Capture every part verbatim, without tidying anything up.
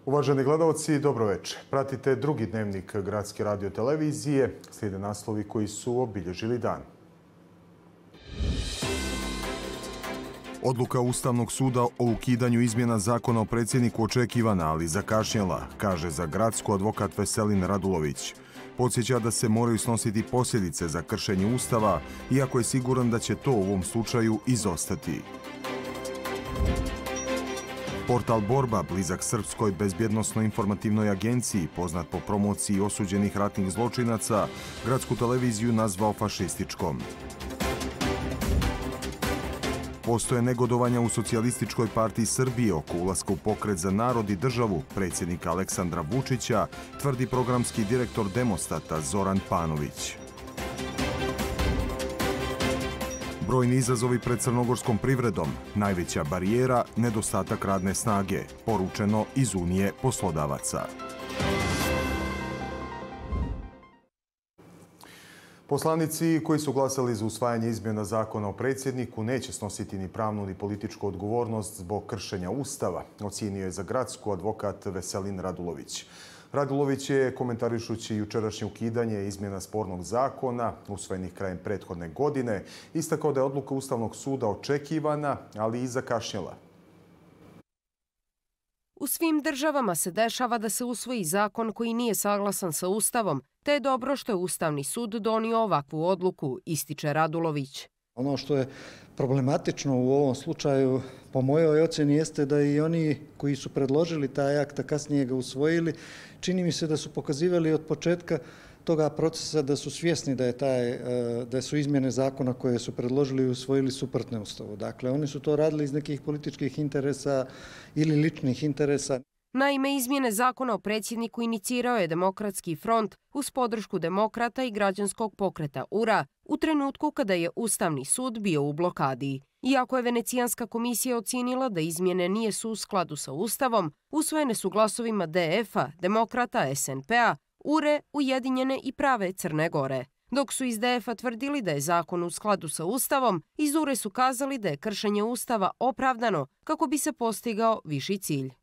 Uvaženi gledalci, dobro večer. Pratite drugi dnevnik Gradske radiotelevizije. Slijede naslovi koji su obilježili dan. Odluka Ustavnog suda o ukidanju izmjena zakona o predsjedniku očekivana, ali zakašnjela, kaže za Gradsku advokat Veselin Radulović. Podsjeća da se moraju snositi posljedice za kršenje Ustava, iako je siguran da će to u ovom slučaju izostati. Portal Borba, blizak Srpskoj bezbjednosno-informativnoj agenciji, poznat po promociji osuđenih ratnih zločinaca, Gradsku televiziju nazvao fašističkom. Postoje negodovanja u Socijalističkoj partiji Srbije oko ulaska u Pokret za narod i državu predsjednika Aleksandra Vučića, tvrdi programski direktor Demostata Zoran Panović. Brojni izazovi pred crnogorskom privredom, najveća barijera, nedostatak radne snage, poručeno iz Unije poslodavaca. Poslanici koji su glasali za usvajanje izmjena zakona o predsjedniku neće snositi ni pravnu ni političku odgovornost zbog kršenja Ustava, ocijenio je za Gradsku advokat Veselin Radulović. Radulović je, komentarišući jučerašnje ukidanje izmjena spornog zakona, usvojenih krajem prethodne godine, istakao da je odluka Ustavnog suda očekivana, ali i zakašnjela. U svim državama se dešava da se usvoji zakon koji nije saglasan sa Ustavom, te je dobro što je Ustavni sud donio ovakvu odluku, ističe Radulović. Ono što je problematično u ovom slučaju, po mojoj ocjeni, jeste da i oni koji su predložili taj akt, a kasnije ga usvojili, čini mi se da su pokazivali od početka toga procesa da su svjesni da je taj, da su izmjene zakona koje su predložili i usvojili suprotne Ustavu. Dakle, oni su to radili iz nekih političkih interesa ili ličnih interesa. Naime, izmjene zakona o predsjedniku inicirao je Demokratski front uz podršku demokrata i građanskog pokreta U R A u trenutku kada je Ustavni sud bio u blokadi. Iako je Venecijanska komisija ocijenila da izmjene nije su u skladu sa Ustavom, usvojene su glasovima D F-a, demokrata, S N P-a, U R E, Ujedinjene i Prave Crne Gore. Dok su iz D F-a tvrdili da je zakon u skladu sa Ustavom, iz U R E su kazali da je kršenje Ustava opravdano kako bi se postigao viši cilj.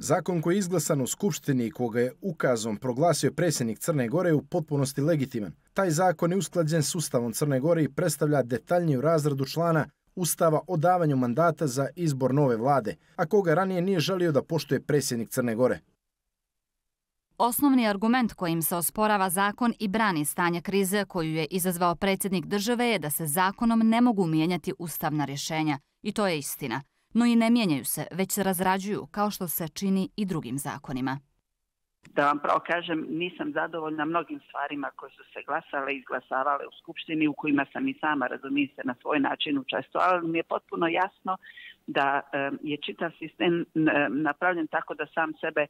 Zakon koji je izglasan u Skupštini i koga je ukazom proglasio predsjednik Crne Gore je u potpunosti legitiman. Taj zakon je usklađen s Ustavom Crne Gore i predstavlja detaljniju razradu člana Ustava o davanju mandata za izbor nove vlade, a koga ranije nije želio da poštuje predsjednik Crne Gore. Osnovni argument kojim se osporava zakon i brani stanje krize koju je izazvao predsjednik države je da se zakonom ne mogu mijenjati ustavna rješenja. I to je istina. No i ne mijenjaju se, već se razrađuju, kao što se čini i drugim zakonima. Da vam pravo kažem, nisam zadovoljna mnogim stvarima koje su se glasale i izglasavale u Skupštini, u kojima sam i sama, razumije se, na svoj način učestvovala, ali mi je potpuno jasno da je čitav sistem napravljen tako da sam sebe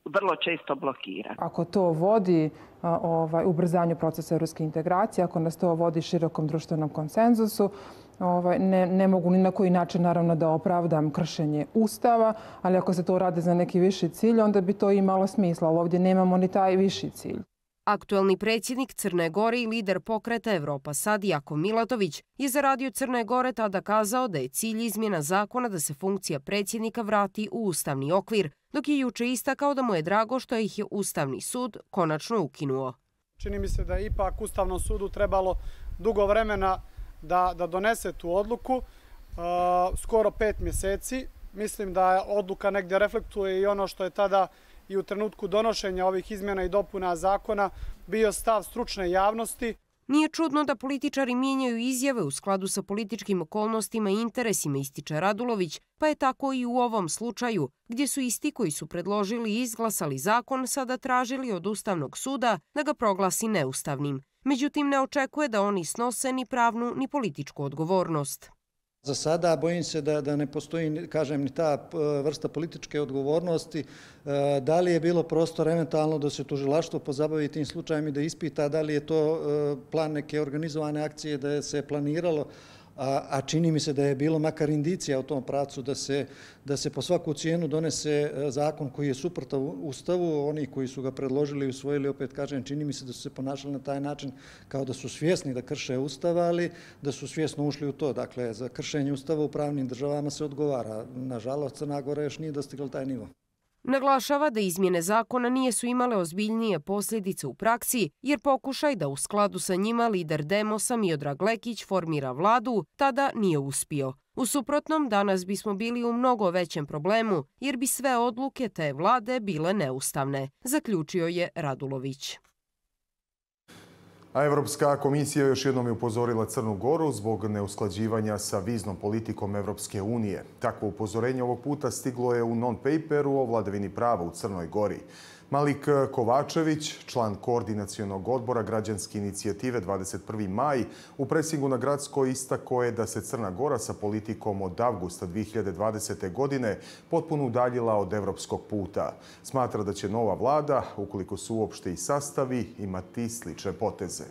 vrlo često blokira. Ako to vodi ovaj, ubrzanju procesa evropske integracije, ako nas to vodi širokom društvenom konsenzusu, ovaj, ne, ne mogu ni na koji način naravno da opravdam kršenje Ustava, ali ako se to radi za neki viši cilj, onda bi to imalo smisla, ali ovdje nemamo ni taj viši cilj. Aktuelni predsjednik Crne Gore i lider pokreta Evropa Sad Jakov Milatović je za radio Crne Gore tada kazao da je cilj izmjena zakona da se funkcija predsjednika vrati u ustavni okvir, dok je juče istakao da mu je drago što ih je Ustavni sud konačno ukinuo. Čini mi se da je ipak Ustavnom sudu trebalo dugo vremena da, da donese tu odluku, uh, skoro pet mjeseci. Mislim da odluka negdje reflektuje i ono što je tada i u trenutku donošenja ovih izmjena i dopuna zakona bio stav stručne javnosti. Nije čudno da političari mijenjaju izjave u skladu sa političkim okolnostima i interesima, ističe Radulović, pa je tako i u ovom slučaju, gdje su isti koji su predložili i izglasali zakon sada tražili od Ustavnog suda da ga proglasi neustavnim. Međutim, ne očekuje da oni snose ni pravnu ni političku odgovornost. Za sada bojim se da, da ne postoji, kažem, ni ta vrsta političke odgovornosti. Da li je bilo prostor eventualno da se tužilaštvo pozabavi tim slučajem i da ispita da li je to plan neke organizovane akcije da se planiralo, a, a čini mi se da je bilo makar indicija u tom pravcu da se, da se po svaku cijenu donese zakon koji je suprotan Ustavu. Oni koji su ga predložili i usvojili, opet kažem, čini mi se da su se ponašali na taj način kao da su svjesni da krše Ustav, ali da su svjesno ušli u to. Dakle, za kršenje Ustava u pravnim državama se odgovara. Nažalost, Crna Gora još nije dostigla taj nivo. Naglašava da izmjene zakona nijesu imale ozbiljnije posljedice u praksi, jer pokušaj da u skladu sa njima lider Demosa Miodrag Lekić formira vladu tada nije uspio. U suprotnom, danas bismo bili u mnogo većem problemu, jer bi sve odluke te vlade bile neustavne, zaključio je Radulović. A Evropska komisija još jednom je upozorila Crnu Goru zbog neusklađivanja sa viznom politikom Evropske unije. Takvo upozorenje ovog puta stiglo je u non-paperu o vladavini prava u Crnoj Gori. Malik Kovačević, član koordinacionog odbora građanske inicijative dvadeset prvi maj, u presingu na Gradskoj istakao je da se Crna Gora sa politikom od avgusta dvije hiljade dvadesete. godine potpuno udaljila od evropskog puta. Smatra da će nova vlada, ukoliko se uopšte i sastavi, imati slične poteze.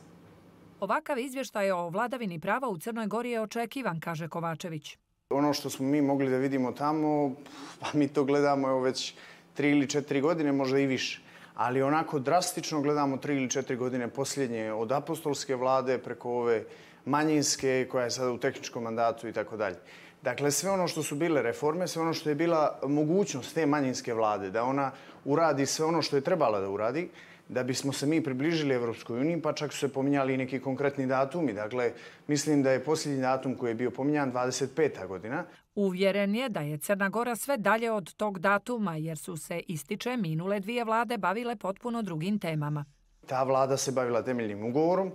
Ovakav izvještaj o vladavini prava u Crnoj Gori je očekivan, kaže Kovačević. Ono što smo mi mogli da vidimo tamo, pa mi to gledamo evo već tri ili četiri godine, možda i više. Ali onako drastično gledamo tri ili četiri godine posljednje, od apostolske vlade preko ove manjinske koja je sada u tehničkom mandatu i tako dalje. Dakle, sve ono što su bile reforme, sve ono što je bila mogućnost te manjinske vlade, da ona uradi sve ono što je trebala da uradi, da bismo se mi približili Evropskoj uniji, pa čak su se pominjali i neki konkretni datumi. Dakle, mislim da je posljednji datum koji je bio pominjan dvadeset peta. godina. Uvjeren je da je Crna Gora sve dalje od tog datuma, jer su se, ističe, minule dvije vlade bavile potpuno drugim temama. Ta vlada se bavila temeljnim ugovorom,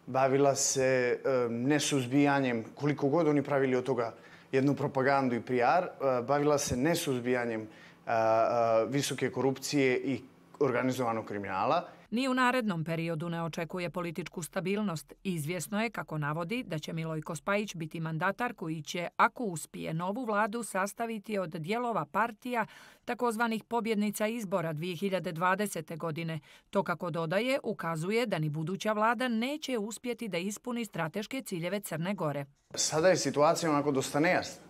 bavila se e, nesuzbijanjem, koliko god oni pravili od toga jednu propagandu i P R, e, bavila se nesuzbijanjem e, e, visoke korupcije i organizovanog kriminala. Ni u narednom periodu ne očekuje političku stabilnost. Izvjesno je, kako navodi, da će Milojko Spajić biti mandatar koji će, ako uspije, novu vladu sastaviti od dijelova partija takozvanih pobjednica izbora dvije hiljade dvadesete. godine. To, kako dodaje, ukazuje da ni buduća vlada neće uspjeti da ispuni strateške ciljeve Crne Gore. Sada je situacija onako dosta nejasna.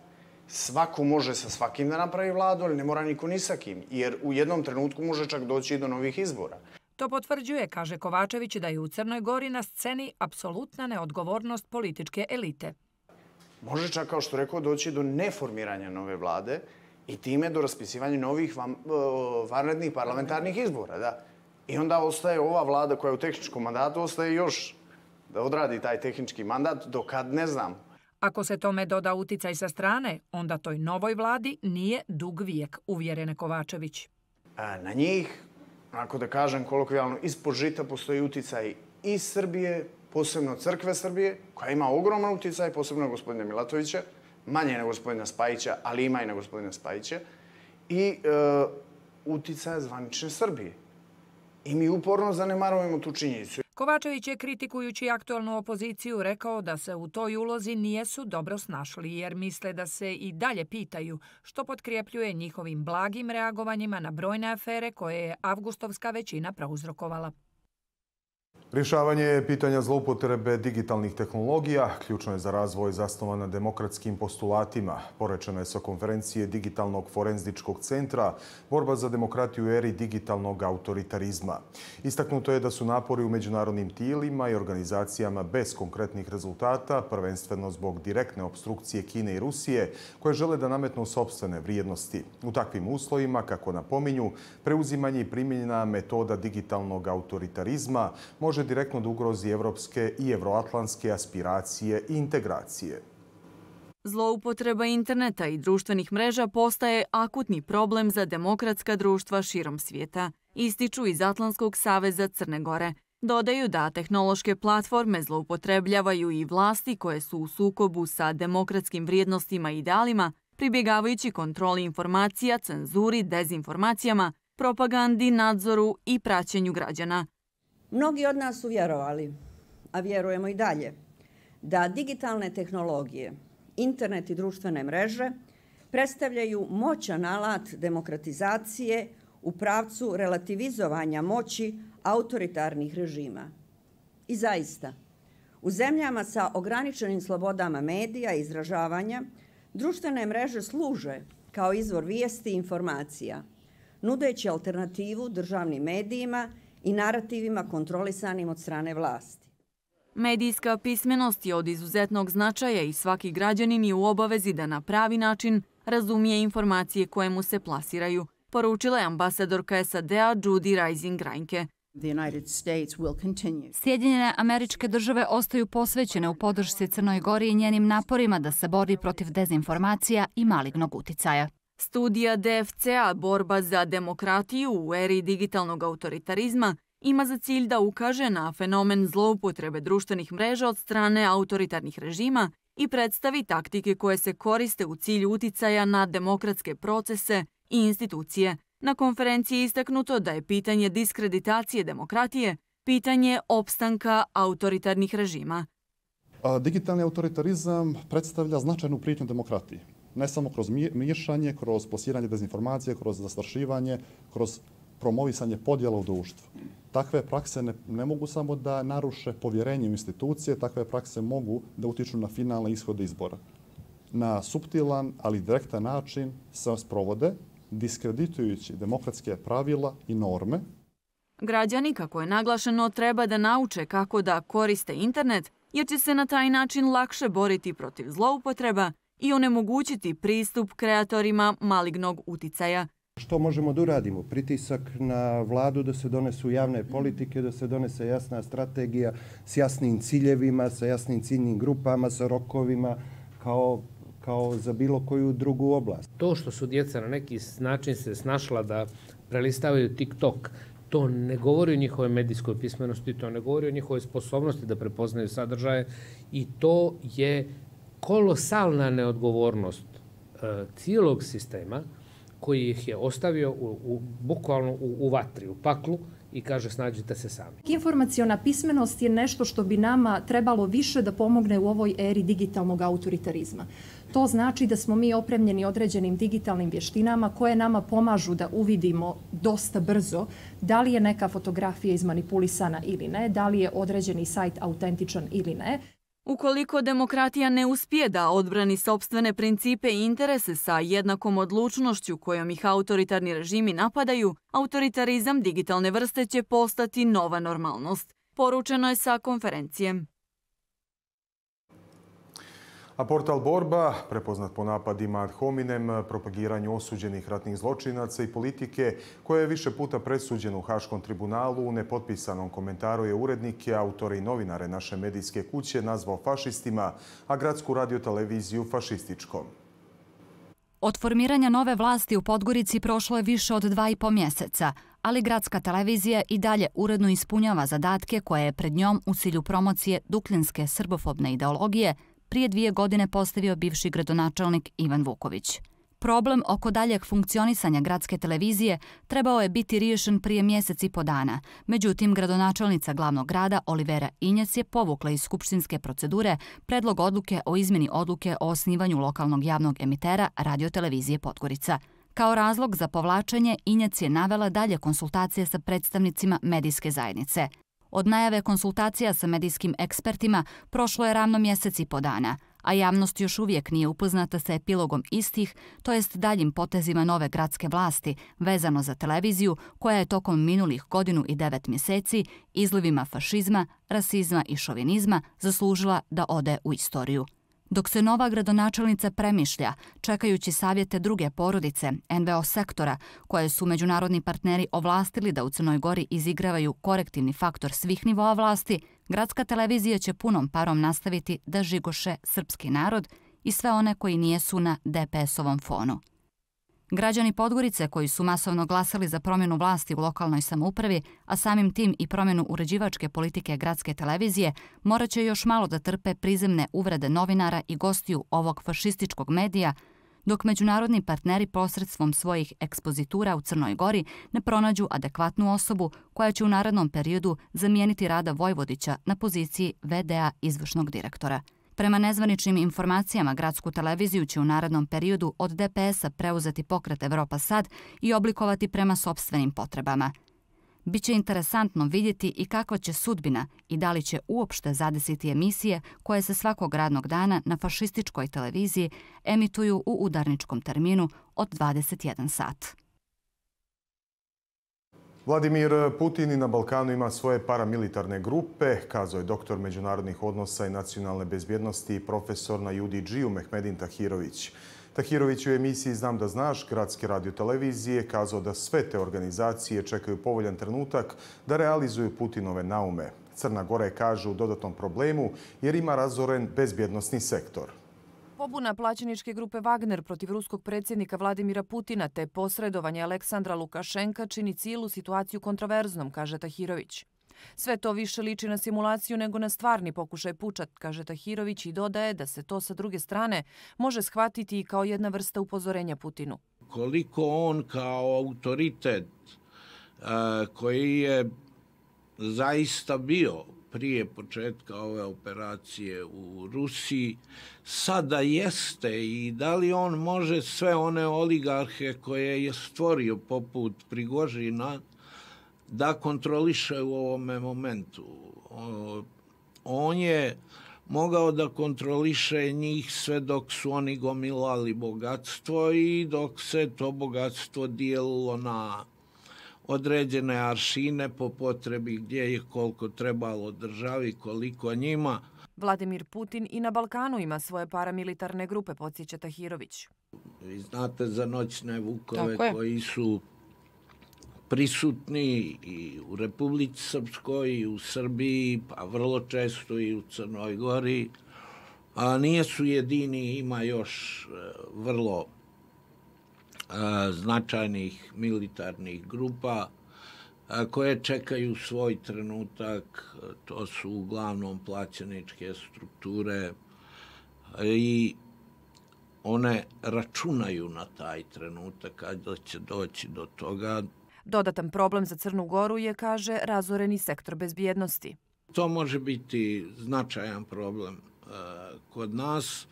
Svako može sa svakim da napravi vladu, ali ne mora niko ni sa kim, jer u jednom trenutku može čak doći i do novih izbora. To potvrđuje, kaže Kovačević, da je u Crnoj Gori na sceni apsolutna neodgovornost političke elite. Može čak, kao što rekao, doći do neformiranja nove vlade i time do raspisivanja novih vanrednih parlamentarnih izbora. Da. I onda ostaje ova vlada koja je u tehničkom mandatu, ostaje još da odradi taj tehnički mandat, dokad ne znam. Ako se tome doda uticaj sa strane, onda toj novoj vladi nije dug vijek, uvjerene Kovačević. Na njih, ako da kažem kolokvijalno, ispod žita postoji uticaj iz Srbije, posebno Crkve Srbije, koja ima ogroman uticaj, posebno gospodina Milatovića, manje na gospodina Spajića, ali ima i na gospodina Spajića, i e, uticaja zvanične Srbije. I mi uporno zanemarujemo tu činjenicu. Kovačević je, kritikujući aktualnu opoziciju, rekao da se u toj ulozi nijesu dobro snašli, jer misle da se i dalje pitaju, što potkrjepljuje njihovim blagim reagovanjima na brojne afere koje je avgustovska većina prouzrokovala. Rješavanje pitanja zloupotrebe digitalnih tehnologija ključno je za razvoj zasnovan na demokratskim postulatima. Porečeno je sa konferencije Digitalnog forenzičkog centra Borba za demokratiju u eri digitalnog autoritarizma. Istaknuto je da su napori u međunarodnim tijelima i organizacijama bez konkretnih rezultata, prvenstveno zbog direktne opstrukcije Kine i Rusije, koje žele da nametnu sopstvene vrijednosti. U takvim uslovima, kako napominju, preuzimanje i primjena metoda digitalnog autoritarizma može direktno da ugrozi evropske i evroatlantske aspiracije i integracije. Zloupotreba interneta i društvenih mreža postaje akutni problem za demokratska društva širom svijeta, ističu iz Atlantskog saveza Crne Gore. Dodaju da tehnološke platforme zloupotrebljavaju i vlasti koje su u sukobu sa demokratskim vrijednostima i idealima, pribjegavajući kontroli informacija, cenzuri, dezinformacijama, propagandi, nadzoru i praćenju građana. Mnogi od nas su vjerovali, a vjerujemo i dalje, da digitalne tehnologije, internet i društvene mreže predstavljaju moćan alat demokratizacije u pravcu relativizovanja moći autoritarnih režima. I zaista, u zemljama sa ograničenim slobodama medija i izražavanja, društvene mreže služe kao izvor vijesti i informacija, nudeći alternativu državnim medijima i narativima kontrolisanim od strane vlasti. Medijska pismenost je od izuzetnog značaja i svaki građanin je u obavezi da na pravi način razumije informacije koje mu se plasiraju, poručila je ambasadorka S A D-a Judy Rising Reinke. Sjedinjene Američke Države ostaju posvećene u podršci Crnoj Gori i njenim naporima da se bori protiv dezinformacija i malignog uticaja. Studija D F C-a Borba za demokratiju u eri digitalnog autoritarizma ima za cilj da ukaže na fenomen zloupotrebe društvenih mreža od strane autoritarnih režima i predstavi taktike koje se koriste u cilju uticaja na demokratske procese i institucije. Na konferenciji je istaknuto da je pitanje diskreditacije demokratije pitanje opstanka autoritarnih režima. Digitalni autoritarizam predstavlja značajnu prijetnju demokratiji. Ne samo kroz miješanje, kroz plasiranje dezinformacije, kroz zastrašivanje, kroz promovisanje podjela u društvu. Takve prakse ne, ne mogu samo da naruše povjerenje u institucije, takve prakse mogu da utiču na finalne ishode izbora. Na suptilan, ali direktan način se sprovode, diskreditujući demokratske pravila i norme. Građani, kako je naglašeno, treba da nauče kako da koriste internet, jer će se na taj način lakše boriti protiv zloupotreba i onemogućiti pristup kreatorima malignog uticaja. Što možemo da uradimo? Pritisak na vladu da se donesu javne politike, da se donese jasna strategija s jasnim ciljevima, sa jasnim ciljnim grupama, sa rokovima, kao, kao za bilo koju drugu oblast. To što su djeca na neki način se snašla da prelistavaju TikTok, to ne govori o njihovoj medijskoj pismenosti, to ne govori o njihovoj sposobnosti da prepoznaju sadržaje i to je kolosalna neodgovornost e, cijelog sistema koji ih je ostavio u, u, bukvalno u, u vatri, u paklu i kaže snađite se sami. Informaciona pismenost je nešto što bi nama trebalo više da pomogne u ovoj eri digitalnog autoritarizma. To znači da smo mi opremljeni određenim digitalnim vještinama koje nama pomažu da uvidimo dosta brzo da li je neka fotografija izmanipulisana ili ne, da li je određeni sajt autentičan ili ne. Ukoliko demokratija ne uspije da odbrani sopstvene principe i interese sa jednakom odlučnošću kojom ih autoritarni režimi napadaju, autoritarizam digitalne vrste će postati nova normalnost. Poručeno je sa konferencije. A portal Borba, prepoznat po napadima ad hominem, propagiranju osuđenih ratnih zločinaca i politike, koja je više puta presuđena u Haškom tribunalu, u nepotpisanom komentaru je urednike, autore i novinare naše medijske kuće nazvao fašistima, a gradsku radioteleviziju fašističkom. Od formiranja nove vlasti u Podgorici prošlo je više od dva i po mjeseca, ali gradska televizija i dalje uredno ispunjava zadatke koje je pred njom u cilju promocije duklinske srbofobne ideologije prije dvije godine postavio bivši gradonačelnik Ivan Vuković. Problem oko daljeg funkcionisanja gradske televizije trebao je biti riješen prije mjesec i po dana. Međutim, gradonačelnica glavnog grada Olivera Injac je povukla iz skupštinske procedure predlog odluke o izmjeni odluke o osnivanju lokalnog javnog emitera radiotelevizije Podgorica. Kao razlog za povlačenje Injac je navela dalje konsultacije sa predstavnicima medijske zajednice. Od najave konsultacija sa medijskim ekspertima prošlo je ravno mjesec i po dana, a javnost još uvijek nije upoznata sa epilogom istih, to jest daljim potezima nove gradske vlasti vezano za televiziju koja je tokom minulih godinu i devet mjeseci izlivima fašizma, rasizma i šovinizma zaslužila da ode u istoriju. Dok se nova gradonačelnica premišlja, čekajući savjete druge porodice, en ve o sektora, koje su međunarodni partneri ovlastili da u Crnoj Gori izigravaju korektivni faktor svih nivoa vlasti, gradska televizija će punom parom nastaviti da žigoše srpski narod i sve one koji nijesu na de pe esovom fonu. Građani Podgorice koji su masovno glasali za promjenu vlasti u lokalnoj samoupravi, a samim tim i promjenu uređivačke politike gradske televizije, morat će još malo da trpe prizemne uvrede novinara i gostiju ovog fašističkog medija, dok međunarodni partneri posredstvom svojih ekspozitura u Crnoj Gori ne pronađu adekvatnu osobu koja će u narednom periodu zamijeniti Rada Vojvodića na poziciji ve de a izvršnog direktora. Prema nezvaničnim informacijama, gradsku televiziju će u narednom periodu od de pe esa preuzeti pokret Evropa Sad i oblikovati prema sopstvenim potrebama. Biće interesantno vidjeti i kakva će sudbina i da li će uopšte zadesiti emisije koje se svakog radnog dana na fašističkoj televiziji emituju u udarničkom terminu od dvadeset jedan sat. Vladimir Putin na Balkanu ima svoje paramilitarne grupe, kazao je doktor međunarodnih odnosa i nacionalne bezbjednosti i profesor na ju di dži-u Mehmedin Tahirović. Tahirović je u emisiji Znam da znaš Gradske radiotelevizije kazao da sve te organizacije čekaju povoljan trenutak da realizuju Putinove naume. Crna Gora je, kažu, u dodatnom problemu jer ima razoren bezbjednosni sektor. Pobuna plaćeničke grupe Wagner protiv ruskog predsjednika Vladimira Putina te posredovanje Aleksandra Lukašenka čini cijelu situaciju kontroverznom, kaže Tahirović. Sve to više liči na simulaciju nego na stvarni pokušaj puča, kaže Tahirović i dodaje da se to sa druge strane može shvatiti i kao jedna vrsta upozorenja Putinu. Koliko on kao autoritet koji je zaista bio prije početka ove operacije u Rusiji, sada jeste i da li on može sve one oligarhe koje je stvorio poput Prigožina da kontroliše u ovome momentu. On je mogao da kontroliše njih sve dok su oni gomilali bogatstvo i dok se to bogatstvo dijelilo na određene aršine po potrebi gdje je koliko trebalo državi, koliko njima. Vladimir Putin i na Balkanu ima svoje paramilitarne grupe, podsjeća Tahirović. Vi znate za noćne vukove koji su prisutni i u Republici Srpskoj i u Srbiji, pa vrlo često i u Crnoj Gori. A nisu jedini, ima još vrlo značajnih militarnih grupa koje čekaju svoj trenutak. To su uglavnom plaćeničke strukture i one računaju na taj trenutak kada će doći do toga. Dodatan problem za Crnu Goru je, kaže, razoreni sektor bezbjednosti. To može biti značajan problem kod nas.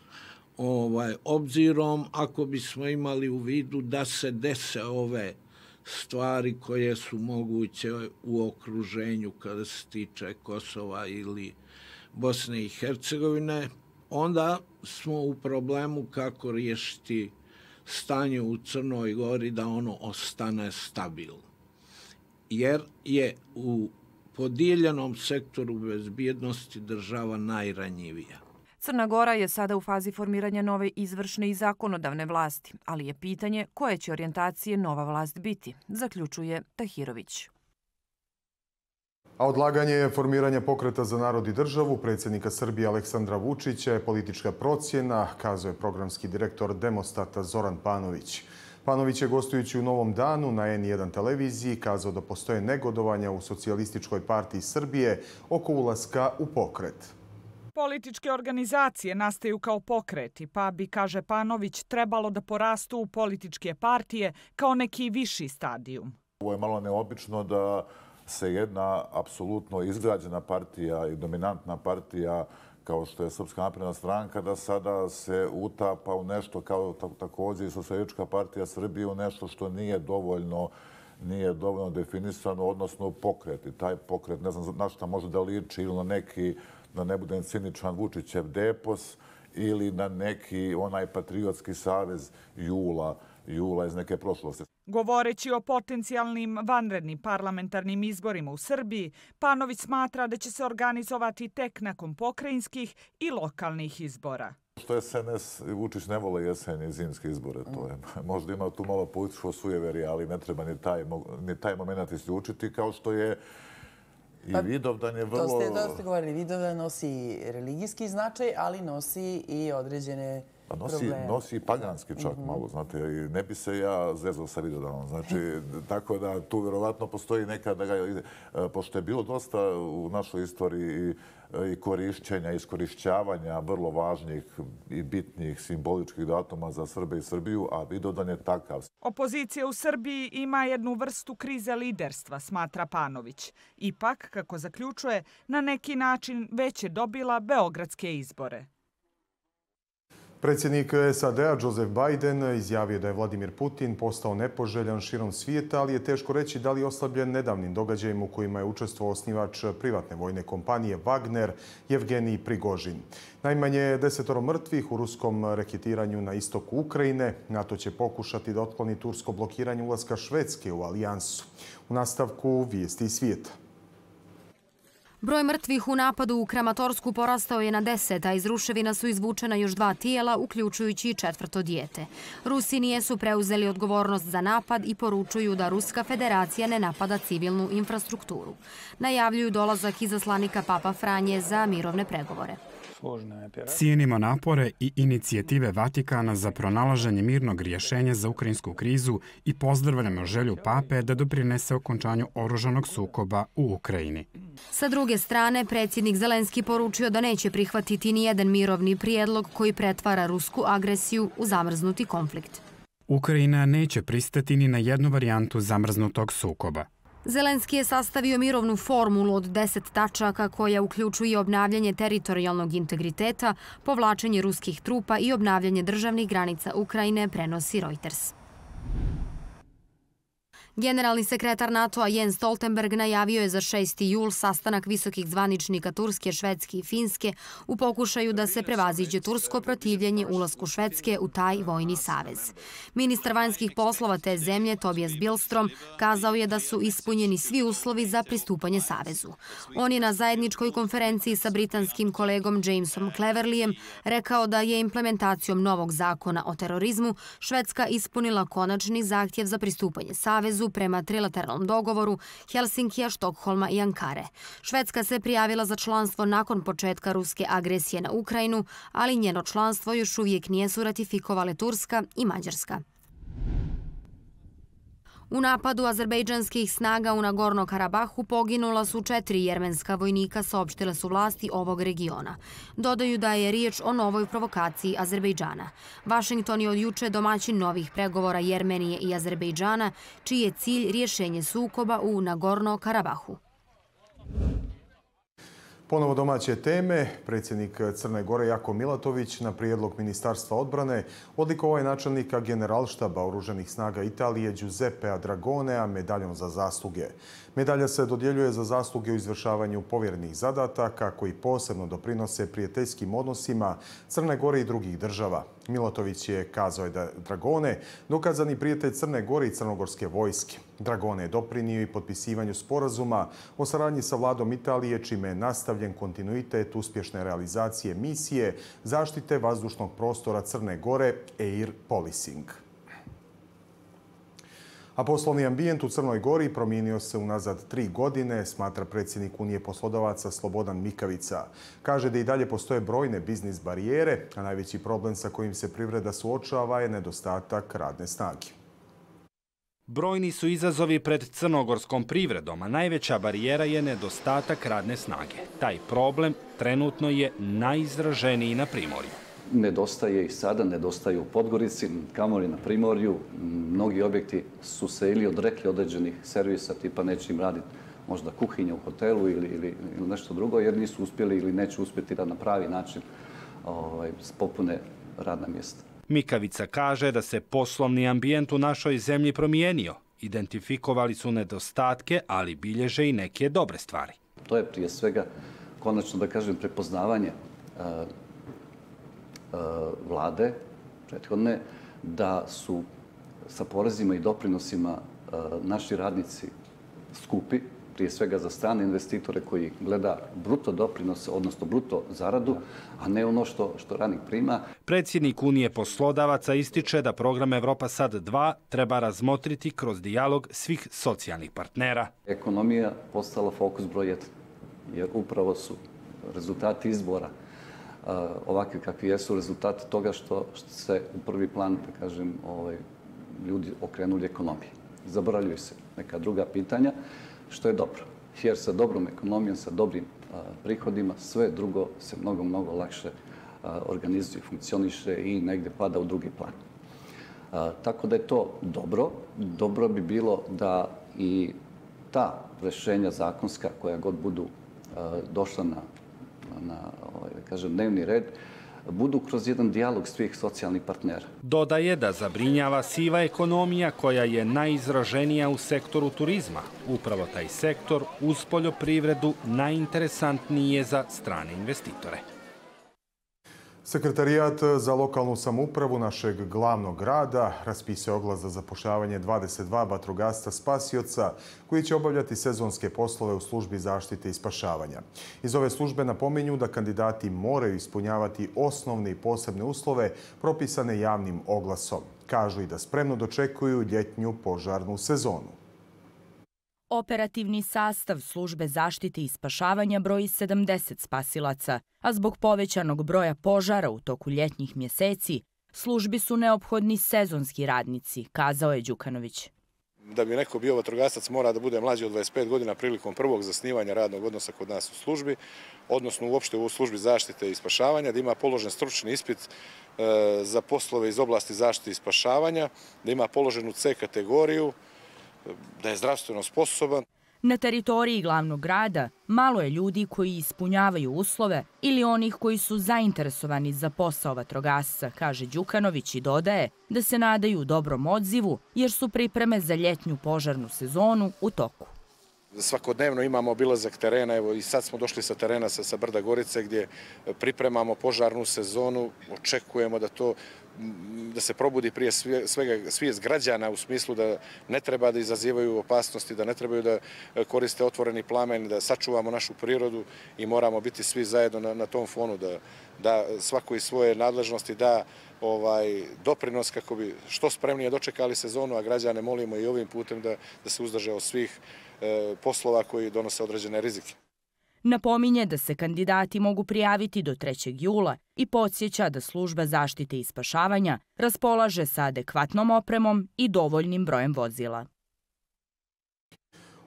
Ovaj, obzirom ako bismo imali u vidu da se dese ove stvari koje su moguće u okruženju kada se tiče Kosova ili Bosne i Hercegovine, onda smo u problemu kako riješiti stanje u Crnoj Gori da ono ostane stabilno. Jer je u podijeljenom sektoru bezbjednosti država najranjivija. Crna Gora je sada u fazi formiranja nove izvršne i zakonodavne vlasti, ali je pitanje koje će orijentacije nova vlast biti, zaključuje Tahirović. A odlaganje formiranja Pokreta za narod i državu predsjednika Srbije Aleksandra Vučića je politička procjena, kazuje programski direktor Demostata Zoran Panović. Panović je, gostujući u Novom danu na en jedan televiziji, kazao da postoje negodovanja u Socijalističkoj partiji Srbije oko ulaska u pokret. Političke organizacije nastaju kao pokreti, pa bi, kaže Panović, trebalo da porastu u političke partije kao neki viši stadijum. Ovo je malo neobično da se jedna apsolutno izgrađena partija i dominantna partija kao što je Srpska napredna stranka, da sada se utapa u nešto kao također i Socijalistička partija Srbije, u nešto što nije dovoljno nije dovoljno definisano, odnosno pokret. I taj pokret, ne znam na šta može da liči, ili na neki, da ne budem ciničan, Vučićev depos, ili na neki onaj patriotski savez Jula, Jula iz neke prošlosti. Govoreći o potencijalnim vanrednim parlamentarnim izborima u Srbiji, Panović smatra da će se organizovati tek nakon pokrajinskih i lokalnih izbora. Što je es en es, Vučić ne vole jesenje i zimske izbore. To je, možda ima tu malo političko sujeverje, ali ne treba ni taj, ni taj moment isključiti, kao što je i pa, Vidovdan je vrlo... To ste, to ste govorili, Vidovdan nosi religijski značaj, ali nosi i određene pa nosi, probleme. Nosi i paganski čak mm-hmm. malo, znate, i ne bi se ja zezao sa Vidovdanom. Znači, tako da tu vjerovatno postoji neka, da ga, pošto je bilo dosta u našoj istoriji i korišćenja, iskorišćavanja vrlo važnih i bitnih simboličkih datuma za Srbe i Srbiju, a Vidovdan je takav. Opozicija u Srbiji ima jednu vrstu krize liderstva, smatra Panović. Ipak, kako zaključuje, na neki način već je dobila beogradske izbore. Predsjednik es a de a Joseph Biden izjavio da je Vladimir Putin postao nepoželjan širom svijeta, ali je teško reći da li je oslabljen nedavnim događajima u kojima je učestvovao osnivač privatne vojne kompanije Wagner, Jevgenij Prigožin. Najmanje desetoro mrtvih u ruskom reketiranju na istoku Ukrajine. NATO će pokušati da otkloni tursko blokiranje ulaska Švedske u alijansu. U nastavku vijesti iz svijeta. Broj mrtvih u napadu u Kramatorsku porastao je na deset, a iz ruševina su izvučena još dva tijela, uključujući i četvrto dijete. Rusi nijesu preuzeli odgovornost za napad i poručuju da Ruska federacija ne napada civilnu infrastrukturu. Najavljuju dolazak izaslanika Papa Franje za mirovne pregovore. Cijenimo napore i inicijative Vatikana za pronalaženje mirnog rješenja za ukrajinsku krizu i pozdravljamo želju Pape da doprinese okončanju oružanog sukoba u Ukrajini. Sa druge strane, predsjednik Zelenski poručio da neće prihvatiti ni jedan mirovni prijedlog koji pretvara rusku agresiju u zamrznuti konflikt. Ukrajina neće pristati ni na jednu varijantu zamrznutog sukoba. Zelenski je sastavio mirovnu formulu od deset tačaka koja uključuje obnavljanje teritorijalnog integriteta, povlačenje ruskih trupa i obnavljanje državnih granica Ukrajine, prenosi Reuters. Generalni sekretar NATO-a Jens Stoltenberg najavio je za šesti jul sastanak visokih zvaničnika Turske, Švedske i Finske u pokušaju da se prevaziđe tursko protivljenje ulasku Švedske u taj vojni savez. Ministar vanjskih poslova te zemlje, Tobias Billstrom, kazao je da su ispunjeni svi uslovi za pristupanje savezu. On je na zajedničkoj konferenciji sa britanskim kolegom Jamesom Cleverlyjem rekao da je implementacijom novog zakona o terorizmu Švedska ispunila konačni zahtjev za pristupanje savezu prema trilateralnom dogovoru Helsinkija, Štokholma i Ankare. Švedska se prijavila za članstvo nakon početka ruske agresije na Ukrajinu, ali njeno članstvo još uvijek nisu ratifikovale Turska i Mađarska. U napadu azerbejdžanskih snaga u Nagorno-Karabahu poginula su četiri jermenska vojnika, saopštile su vlasti ovog regiona. Dodaju da je riječ o novoj provokaciji Azerbejdžana. Vašington je od juče domaćin novih pregovora Jermenije i Azerbejdžana, čiji je cilj rješenje sukoba u Nagorno-Karabahu. Ponovo domaće teme. Predsjednik Crne Gore Jako Milatović na prijedlog Ministarstva odbrane odlikovao je načelnika generalštaba Oružanih snaga Italije Giuseppea Dragonea medaljom za zasluge. Medalja se dodjeljuje za zasluge u izvršavanju povjerenih zadataka koji posebno doprinose prijateljskim odnosima Crne Gore i drugih država. Milatović je kazao da Dragone dokazani prijatelj Crne Gore i crnogorske vojske. Dragone je doprinio i potpisivanju sporazuma o saradnji sa vladom Italije, čime je nastavljen kontinuitet uspješne realizacije misije zaštite vazdušnog prostora Crne Gore Air Policing. A poslovni ambijent u Crnoj Gori promijenio se unazad tri godine, smatra predsjednik Unije poslodavaca Slobodan Mikavica. Kaže da i dalje postoje brojne biznis barijere, a najveći problem sa kojim se privreda suočava je nedostatak radne snage. Brojni su izazovi pred crnogorskom privredom, a najveća barijera je nedostatak radne snage. Taj problem trenutno je najizraženiji na Primorju. Nedostaje i sada, nedostaju u Podgorici, kamoli na Primorju. Mnogi objekti su se ili odrekli određenih servisa, tipa neće im raditi možda kuhinja u hotelu ili, ili, ili nešto drugo, jer nisu uspjeli ili neće uspjeti da na pravi način ovaj, popune radna mjesta. Mikavica kaže da se poslovni ambijent u našoj zemlji promijenio. Identifikovali su nedostatke, ali bilježe i neke dobre stvari. To je prije svega, konačno da kažem, prepoznavanje uh, vlade prethodne da su sa porezima i doprinosima naši radnici skupi, prije svega za strane investitore koji gleda bruto doprinose, odnosno bruto zaradu, a ne ono što, što radnik prima. Predsjednik Unije poslodavaca ističe da program Evropa Sad dva treba razmotriti kroz dijalog svih socijalnih partnera. Ekonomija postala fokus broj jedan, jer upravo su rezultati izbora ovakvi kakvi jesu rezultati toga što, što se u prvi plan, da kažem, ovaj, ljudi okrenuli ekonomiji. Zaboravljaju se neka druga pitanja, što je dobro. Jer sa dobrom ekonomijom, sa dobrim a, prihodima, sve drugo se mnogo, mnogo lakše a, organizuje, funkcioniše i negdje pada u drugi plan. A, tako da je to dobro. Dobro bi bilo da i ta rješenja zakonska koja god budu a, došla na na ovaj, da kažem, dnevni red, budu kroz jedan dijalog svih socijalnih partnera. Dodaje da zabrinjava siva ekonomija koja je najizraženija u sektoru turizma. Upravo taj sektor uz poljoprivredu najinteresantniji je za strane investitore. Sekretarijat za lokalnu samoupravu našeg glavnog grada raspisao oglas za zapošljavanje dvadeset dva vatrogasca spasioca koji će obavljati sezonske poslove u službi zaštite i spašavanja. Iz ove službe napominju da kandidati moraju ispunjavati osnovne i posebne uslove propisane javnim oglasom. Kažu i da spremno dočekuju ljetnju požarnu sezonu. Operativni sastav službe zaštite i spašavanja broji sedamdeset spasilaca, a zbog povećanog broja požara u toku ljetnjih mjeseci, službi su neophodni sezonski radnici, kazao je Đukanović. Da bi neko bio vatrogasac mora da bude mlađi od dvadeset pet godina prilikom prvog zasnivanja radnog odnosa kod nas u službi, odnosno uopšte u službi zaštite i spašavanja, da ima položen stručni ispit za poslove iz oblasti zaštite i spašavanja, da ima položenu C kategoriju, da je zdravstveno sposoban. Na teritoriji glavnog grada malo je ljudi koji ispunjavaju uslove ili onih koji su zainteresovani za posao vatrogasca, kaže Đukanović i dodaje da se nadaju dobrom odzivu jer su pripreme za ljetnju požarnu sezonu u toku. Svakodnevno imamo obilazak terena, evo i sad smo došli sa terena sa, sa Brda Gorice gdje pripremamo požarnu sezonu, očekujemo da to da se probudi prije svega svijest građana u smislu da ne treba da izazivaju opasnosti, da ne trebaju da koriste otvoreni plamen, da sačuvamo našu prirodu i moramo biti svi zajedno na, na tom fonu, da, da svako iz svoje nadležnosti da ovaj, doprinos kako bi što spremnije dočekali sezonu, a građane molimo i ovim putem da, da se uzdrže od svih e, poslova koji donose određene rizike. Napominje da se kandidati mogu prijaviti do trećeg jula i podsjeća da služba zaštite i spašavanja raspolaže sa adekvatnom opremom i dovoljnim brojem vozila.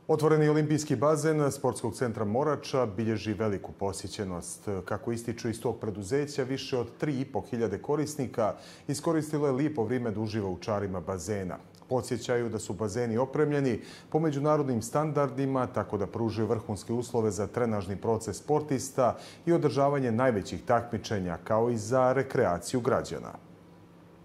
Otvoreni olimpijski bazen Sportskog centra Morača bilježi veliku posjećenost. Kako ističu iz tog preduzeća, više od tri i po hiljade korisnika iskoristilo je lijepo vrijeme da uživa u čarima bazena. Podsjećaju da su bazeni opremljeni po međunarodnim standardima, tako da pružaju vrhunske uslove za trenažni proces sportista i održavanje najvećih takmičenja, kao i za rekreaciju građana.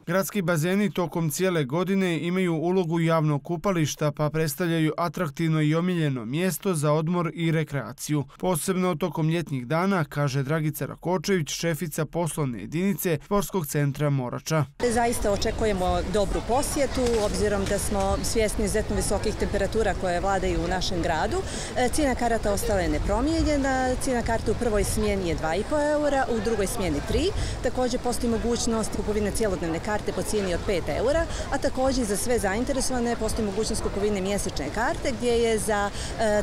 Gradski bazeni tokom cijele godine imaju ulogu javnog kupališta pa predstavljaju atraktivno i omiljeno mjesto za odmor i rekreaciju. Posebno tokom ljetnjih dana, kaže Dragica Rakočević, šefica poslovne jedinice Sportskog centra Morača. Zaista očekujemo dobru posjetu, obzirom da smo svjesni izuzetno visokih temperatura koje vladaju u našem gradu. Cijena karata ostala je nepromijenjena. Cijena karte u prvoj smjeni je dva i po eura, u drugoj smjeni tri. Također postoji mogućnost kupovine cijelodnevne karte po cijeni od pet eura, a također za sve zainteresovane postoji mogućnost kupovine mjesečne karte gdje je za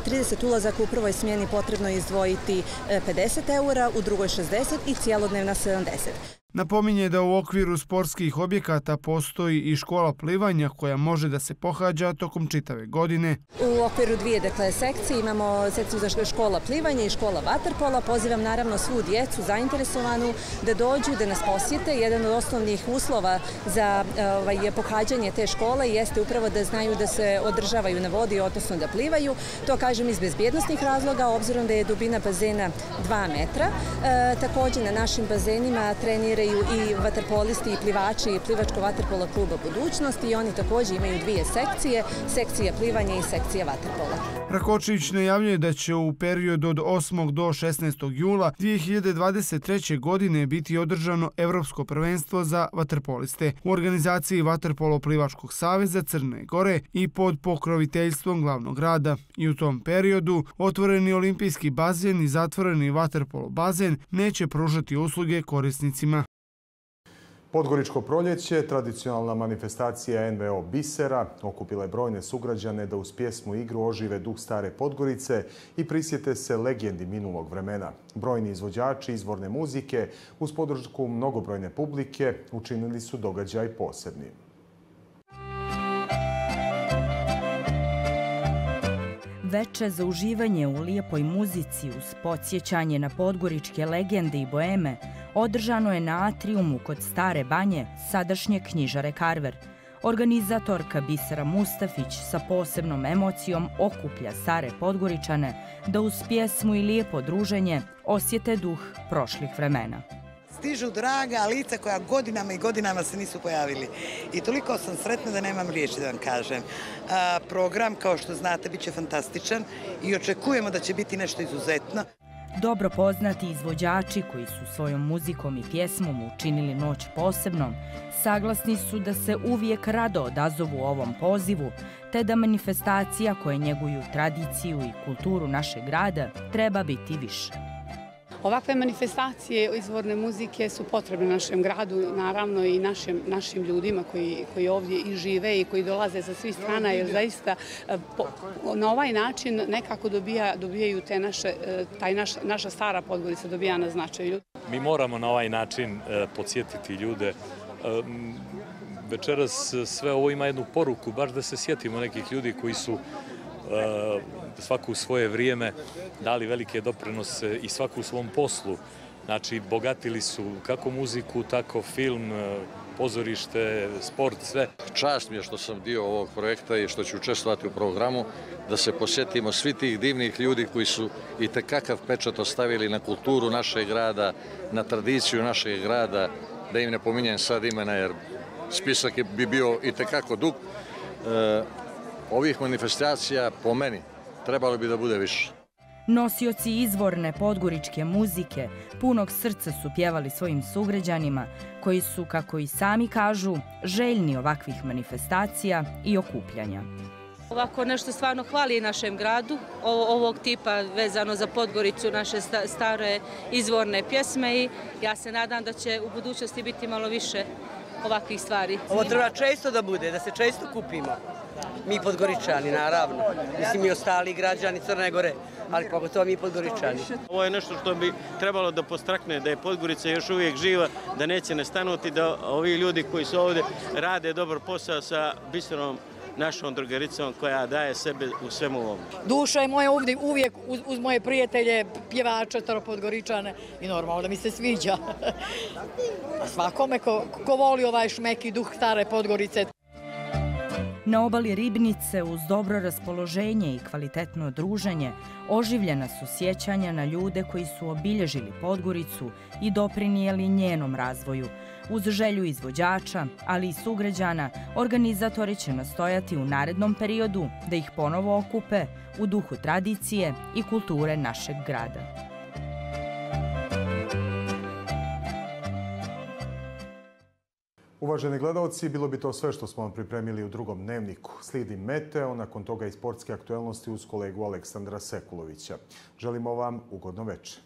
trideset ulazaka u prvoj smjeni potrebno izdvojiti pedeset eura, u drugoj šezdeset i cijelodnevna sedamdeset. Napominje da u okviru sportskih objekata postoji i škola plivanja koja može da se pohađa tokom čitave godine. U okviru dvije dakle, sekcije imamo sekciju za škola plivanja i škola vaterpola. Pozivam naravno svu djecu zainteresovanu da dođu, da nas posjete. Jedan od osnovnih uslova za ovaj, pohađanje te škole jeste upravo da znaju da se održavaju na vodi, odnosno da plivaju. To kažem iz bezbjednostnih razloga, obzirom da je dubina bazena dva metra. E, također na našim bazenima treniraju i vaterpolisti i plivači i plivačko vaterpola kluba Budućnost i oni također imaju dvije sekcije, sekcija plivanja i sekcija vaterpola. Rakočević najavljuje da će u periodu od osmog do šesnaestog jula dvije hiljade dvadeset treće. godine biti održano Evropsko prvenstvo za vaterpoliste u organizaciji Vaterpolo plivačkog saveza Crne Gore i pod pokroviteljstvom glavnog grada. I u tom periodu otvoreni olimpijski bazen i zatvoreni vaterpolo bazen neće pružati usluge korisnicima. Podgoričko proljeće, tradicionalna manifestacija en ve o Bisera, okupila je brojne sugrađane da uz pjesmu i igru ožive duh stare Podgorice i prisjete se legendi minulog vremena. Brojni izvođači izvorne muzike uz podršku mnogobrojne publike učinili su događaj posebnim. Veče za uživanje u lijepoj muzici uz podsjećanje na podgoričke legende i boeme održano je na atriumu kod Stare banje, sadašnje knjižare Karver. Organizatorka Bisera Mustafić sa posebnom emocijom okuplja stare Podgoričane da uz pjesmu i lijepo druženje osjete duh prošlih vremena. Stižu draga lica koja godinama i godinama se nisu pojavili. I toliko sam sretna da nemam riječi da vam kažem. A, program, kao što znate, bit će fantastičan i očekujemo da će biti nešto izuzetno. Dobro poznati izvođači koji su svojom muzikom i pjesmom učinili noć posebnom, saglasni su da se uvijek rado odazovu ovom pozivu, te da manifestacija koje njeguju tradiciju i kulturu našeg grada treba biti više. Ovakve manifestacije izvorne muzike su potrebne našem gradu, naravno i našim, našim ljudima koji, koji ovdje i žive i koji dolaze sa svih strana, jer zaista po, na ovaj način nekako dobija, dobijaju te naše, taj naš, naša stara Podgorica dobija na značaju. Mi moramo na ovaj način podsjetiti ljude. Večeras sve ovo ima jednu poruku, baš da se sjetimo nekih ljudi koji su svaku u svoje vrijeme dali velike doprinose i svaku u svom poslu. Znači, bogatili su kako muziku, tako film, pozorište, sport, sve. Čast mi je što sam dio ovog projekta i što ću učestvovati u programu, da se posjetimo svi tih divnih ljudi koji su i tekakav pečat ostavili na kulturu našeg grada, na tradiciju našeg grada, da im ne pominjem sad imena jer spisak bi bio i tekako dug. E, ovih manifestacija po meni trebalo bi da bude više. Nosioci izvorne podgoričke muzike punog srca su pjevali svojim sugrađanima, koji su, kako i sami kažu, željni ovakvih manifestacija i okupljanja. Ovako nešto stvarno hvali našem gradu, ovog tipa vezano za Podgoricu, naše stare izvorne pjesme i ja se nadam da će u budućnosti biti malo više ovakvih stvari. Ovo treba često da bude, da se često kupimo. Mi Podgoričani, naravno. Mislim i ostali građani Crne Gore, ali pogotovo mi Podgoričani. Ovo je nešto što bi trebalo da postrakne, da je Podgorica još uvijek živa, da neće nestanuti, da ovi ljudi koji su ovdje rade dobar posao sa bistrom našom drugaricom koja daje sebe u svemu ovom. Duša je moja ovdje uvijek uz, uz moje prijatelje, pjevače, Podgoričane i normalno da mi se sviđa. Svakome ko, ko voli ovaj šmek i duh stare Podgorice. Na obali Ribnice, uz dobro raspoloženje i kvalitetno druženje, oživljena su sjećanja na ljude koji su obilježili Podgoricu i doprinijeli njenom razvoju. Uz želju izvođača, ali i sugrađana, organizatori će nastojati u narednom periodu da ih ponovo okupe u duhu tradicije i kulture našeg grada. Uvaženi gledalci, bilo bi to sve što smo vam pripremili u drugom dnevniku. Slijedi meteo, nakon toga i sportske aktuelnosti uz kolegu Aleksandra Sekulovića. Želimo vam ugodno večer.